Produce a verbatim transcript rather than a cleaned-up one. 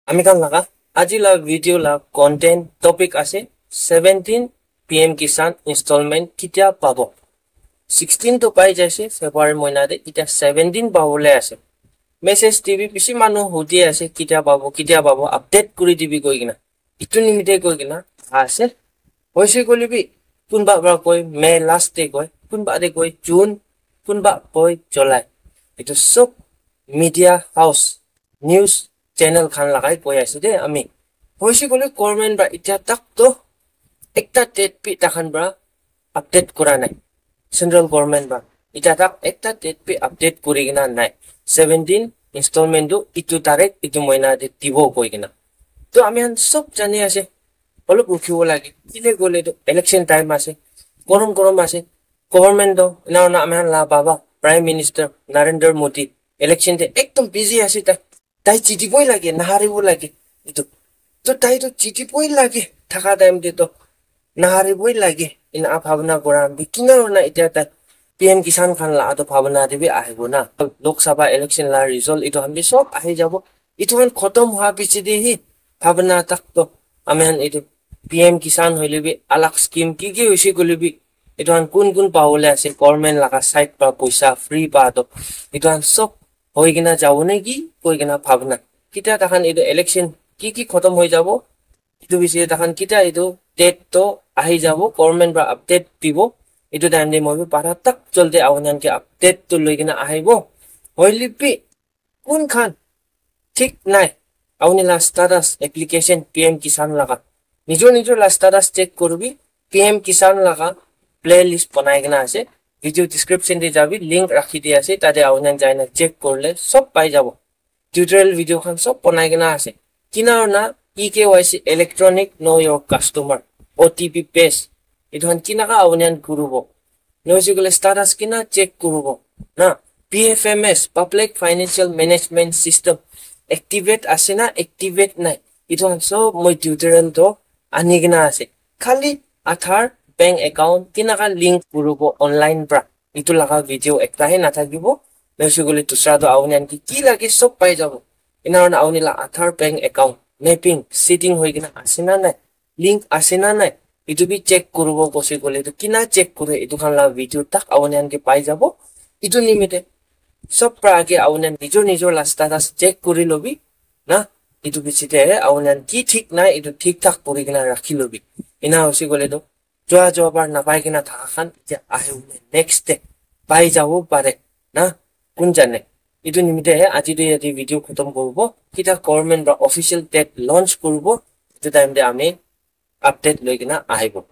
Ami khan laga aji la video la content topic ase seventeen P M Kisan installment kitia pabo. Sixteen to pai jaise February moina te, itia seventeen pabole ase. Message dibi bishi manu hudi ase kitia pabo, kitia pabo, update kuri dibi koi kena. Itu nimite koi kena ase. Hoise koile bi kunba pra koi May last te koi, kunba te koi June, kunba koi July. Itu sob media house, news channel khan lagai koi ase de ami. Hoise koile government pra itia tak to ekta date bi takhan pra update kura nai. Central government pra itia tak ekta date bi update kuri kena nai. Seventeen installment tu itu tarik itu moina te dibo koi kena. To ami khan sob jani ase, olop rukhibo lage. Kile koile to election time ase, gorom gorom ase. Government to ena hoina ami khan la baba Prime Minister Narendra Modi election te ekdom busy ase tai. Tai jitiboi lage, naharibo lage. Itu to tai to jitiboi lage, thaka time te to nahariboi lage. Ena bhabna kora bi kina hoina itia tai P M Kisan khan la ato bhabna te bi ahibo na. Lok Sabha election la result itu khan bi sob ahi jabo. Itu khan khotom hua piche de hi bhabna tak to ami khan itu P M Kisan hoile bi alag scheme ki ki hoise koile bi itu khan kun kun pabole ase government laga side pra poisa free pa to itu khan sob hoi kena jabo ne ki koi kena bhabna. Kitia takhan itu election ki ki khotom hoi jabo, itu bishi takhan kitia itu date to ahi jabo, government pra update dibo. Itu time te moi bi para tak joldi aunian ke update to loi kena ahibo. Hoile bi kun khan thik nai, auni la status application P M Kisan laga, nijor nijor la status check kuribi. P M Kisan laga playlist banai kena ase, video description te jabi, link rakhi di ase, tate aunian jaina check kurle sob pai jabo. Tutorial video khan sob banai kena ase. Kina na E K Y C, electronic know your customer, O T P base, itu khan kinaka aunian kuribo, noise koile status kina check kuribo na, P F M S, public financial management system, activate ase na activate nai, itu khan sob moi tutorial to ani kena ase. Khali Aadhaar bank account kinaka link kuribo online pra, itu laga video ekta he nathakibo. Noise koile dusra to aunian ki ki lage sob pai jabo. Ena hoina auni la Aadhaar bank account mapping setting hoi kena ase na nai, link ase na nai, itu bi check kuribo kosi koile itu kina check kure, itu khan la video tak aunian ke pai jabo. Itu nimite sob pra age aunian nijor nijor la status check kuri lobi na. Itu bichite aunian ki thik nai itu thik thak kuri kena rakhi lobi. Ena hoise koile to jua jua bar napai kena thaka khan etia ahi bole next day pai jabo pare na, kun jane. Itu nimite he aji tu yate video khotom koribo. Kitia government pra official date launch koribo, itu time te ami update loi kena ahibo.